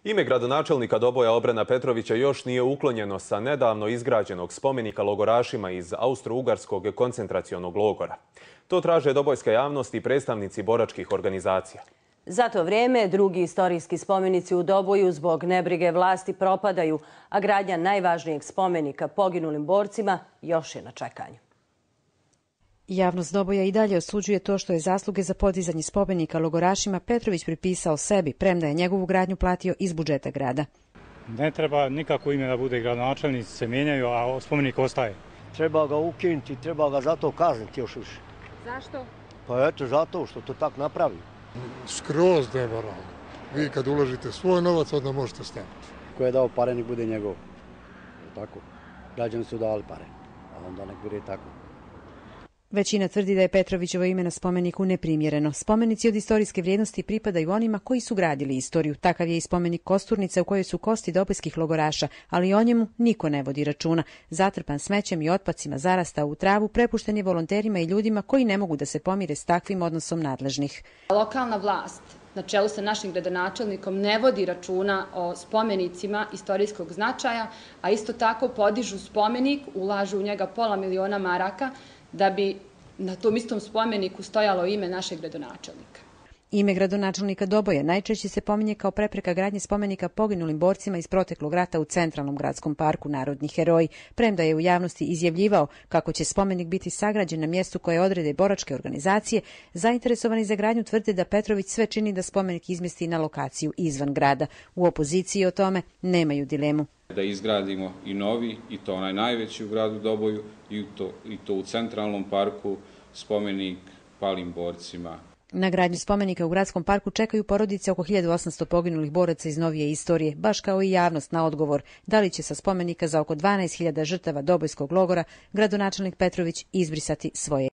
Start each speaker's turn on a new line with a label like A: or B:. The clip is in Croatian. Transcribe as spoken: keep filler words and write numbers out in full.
A: Ime gradonačelnika Doboja Obrena Petrovića još nije uklonjeno sa nedavno izgrađenog spomenika logorašima iz Austro-Ugarskog koncentracionog logora. To traže dobojska javnost i predstavnici boračkih organizacija.
B: Za to vrijeme drugi istorijski spomenici u Doboju zbog nebrige vlasti propadaju, a gradnja najvažnijeg spomenika poginulim borcima još je na čekanju.
C: Javnost Doboja i dalje osuđuje to što je zasluge za podizanje spomenika logorašima Petrović pripisao sebi, premda je njegovu gradnju platio iz budžeta grada.
D: Ne treba nikako ime da bude gradonačelnici se mijenjaju, a spomenik ostaje.
E: Treba ga ukinuti, treba ga zato kazniti još više.
F: Zašto?
E: Pa eto, zato što to tako napravi.
G: Skroz nemoralno. Vi kad uložite svoj novac, onda možete staviti.
H: Ko je dao pare, nek bude njegov. Tako. Građani su dali pare, a onda nek bude tako.
C: Većina tvrdi da je Petrovićevo ime na spomeniku neprimjereno. Spomenici od istorijske vrijednosti pripadaju onima koji su gradili istoriju. Takav je i spomenik Kosturnice u kojoj su kosti dobojskih logoraša, ali o njemu niko ne vodi računa. Zatrpan smećem i otpacima zarastao u travu, prepušten je volonterima i ljudima koji ne mogu da se pomire s takvim odnosom nadležnih.
F: Lokalna vlast na čelu sa našim gradonačelnikom ne vodi računa o spomenicima istorijskog značaja, a isto tako podižu spomenik, ulažu u njega pola miliona maraka, da bi na tom istom spomeniku stojalo ime našeg gradonačelnika.
C: Ime gradonačelnika Doboja najčešće se pominje kao prepreka gradnje spomenika poginulim borcima iz proteklog rata u centralnom gradskom parku Narodni heroji, premda je u javnosti izjavljivao kako će spomenik biti sagrađen na mjestu koje odrede boračke organizacije. Zainteresovani za gradnju tvrde da Petrović sve čini da spomenik izmjesti na lokaciju izvan grada. U opoziciji o tome nemaju dilemu.
I: Da izgradimo i novi, i to onaj najveći u gradu Doboju, i to, i to u centralnom parku, spomenik palim borcima.
C: Na gradnju spomenika u gradskom parku čekaju porodice oko hiljadu osamsto poginulih boraca iz novije istorije, baš kao i javnost na odgovor da li će sa spomenika za oko dvanaest hiljada žrtava dobojskog logora gradonačelnik Petrović izbrisati svoje